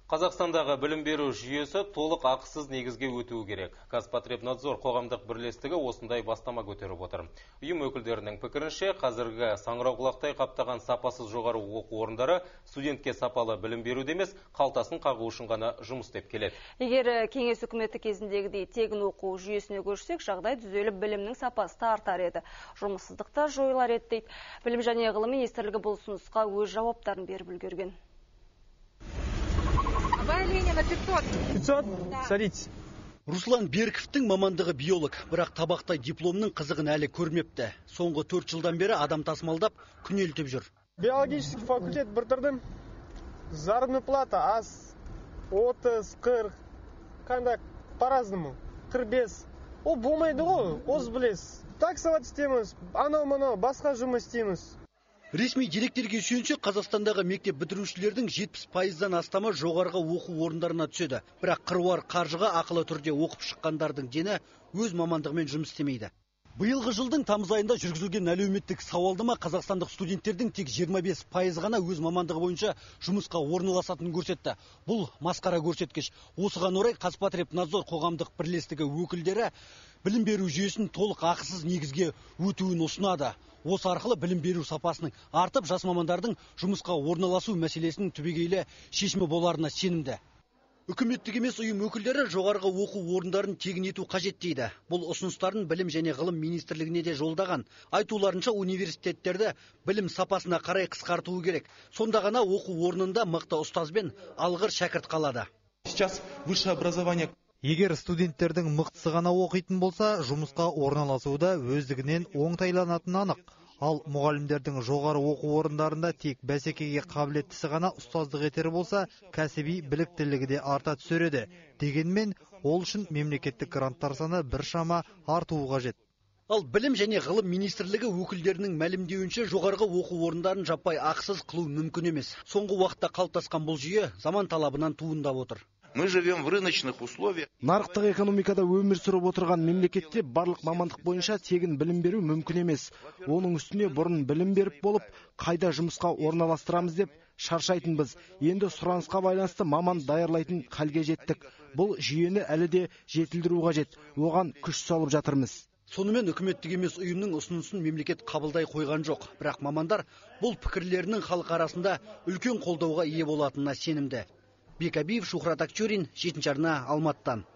Қазақстандағы білім беру жүйесі толық ақысыз негізге өтуі керек. Қазпотребнадзор қоғамдық бірлестігі осындай бастама көтеріп отыр. Ұйым өкілдерінің пікірінше, қазіргі саңырауқұлақтай қаптаған сапасыз жоғары оқу орындары студентке сапалы білім беруде емес, қалтасын қағу үшін ғана жұмыс істеп келеді. Егер кеңес үкіметі кезіндегідей тегін оқу жүйесіне көшсек, жағдай түзеліп білімнің сапасы артар еді. Жұмыссыздықта жойылар еді дейді. Білім және ғылым министрлігі бұл ұсынысқа өз жауаптарын беріп үлгерген. 500? Садитесь. Руслан Берковтің мамандығы биолог, бірақ табақтай дипломның қызығын әлі көрмепті. Соңғы 4 жылдан бері адам тасымалдап күнелтіп жүр. Биологический факультет бітірдім. Заработная плата аз 30-40, қандай по-разному, 45. Ол болмайды ғой, оз білесіз. Таксовать істейміз, анау-мынау басқа жұмыс істейміз. Ресми деректерге сүйенсек, Қазақстандағы мектеп бітірушілердің 70%-дан астамы жоғарғы оқу орындарына түседі. Бірақ қыруар қаржыға ақылы түрде оқып шыққандардың дені өз мамандығымен жұмыс істемейді. Биылғы жылдың тамыз айында жүргізілген әлеуметтік сауалдама қазақстандық студенттердің тек 25% ғана өз мамандығы бойынша жұмысқа орналасатынын көрсетті. Бұл масқара көрсеткіш. Осыған орай Қазпотребнадзор қоғамдық бірлестігі өкілдері білім беру жүйесін толық ақысыз негізге өтуін ұсынады. Осы арқылы білім беру сапасының артып, жас мамандардың жұмысқа орналасу мәселесінің түбегейлі шешімі боларына сенімді. Үкіметтік емес ұйым өкілдері жоғарғы оқу орындарын тегін ету қажет дейді. Бұл ұсыныстарын білім және ғылым министрлігіне де жолдаған. Айтуларынша университеттерді білім сапасына қарай қысқартуы керек. Сонда ғана оқу орнында мықты ұстазбен алғыр шәкірт қалады. Сейчас высшее образование. Егер студенттердің мықтысы ғана оқитын болса, жұмысқа орналасуда өздігінен оңтайланатыны анық. Ал мұғалімдердің жоғары оқу орындарында тек бәсекеге қабілеттісі ғана ұстаздық етері болса, кәсіби біліктілігі де арта түсереді. Дегенмен, ол үшін мемлекеттік гранттар саны біршама артуы қажет. Ал білім және ғылым министрлігі өкілдерінің мәлімдеуінше жоғарғы оқу орындарын жаппай ақысыз қылу мүмкін емес. Соңғы уақытта қалыптасқан бұл жүйе заман талабынан туындап отыр. Мы живем в рыночных условиях. Нарықтық экономикада өмір сүріп отырған мемлекетте барлық мамандық бойынша тегін білім беру мүмкін емес. Оның үстіне бұрын білім беріп болып, қайда жұмысқа орналастырамыз деп шаршайтынбыз. Енді сұранысқа байланысты маман даярлайтын халге жеттік. Бұл жүйені әлі де жетілдіру қажет. Оған күш салып жатырмыз. Сонымен үкіметтік емес ұйымның ұсынысын мемлекет қабылдай қойған жоқ. Бірақ мамандар бұл пікірлерінің халық арасында үлкен қолдауға ие болатынына сенімді. Бекабиев, Шухрат Акчурин, 7 арна, Алматыдан.